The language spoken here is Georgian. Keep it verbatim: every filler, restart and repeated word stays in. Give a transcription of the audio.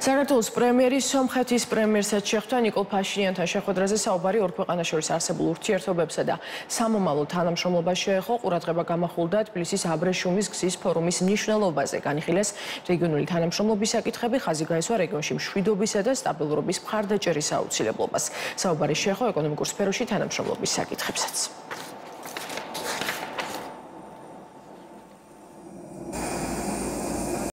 საქართველოს პრემიერის სომხეთის პრემიერსაც შეხვდა ნიკოლ ფაშინიანთან შეხვედრაზე საუბარი ორ ქვეყანას შორის არსებულ ურთიერთობებსა და სამომავლო თანამშრომლობას შეეხო. ყურადღება გამახვილდა თბილისის აბრეშუმის გზის ფორუმის მნიშვნელობაზე. განიხილეს რეგიონული თანამშრომლობის საკითხები, ხაზი გაესვა რეგიონში მშვიდობისა და სტაბილურობის მხარდაჭერის აუცილებლობას. საუბარი შეეხო ეკონომიკურ სფეროში თანამშრომლობის საკითხებსაც.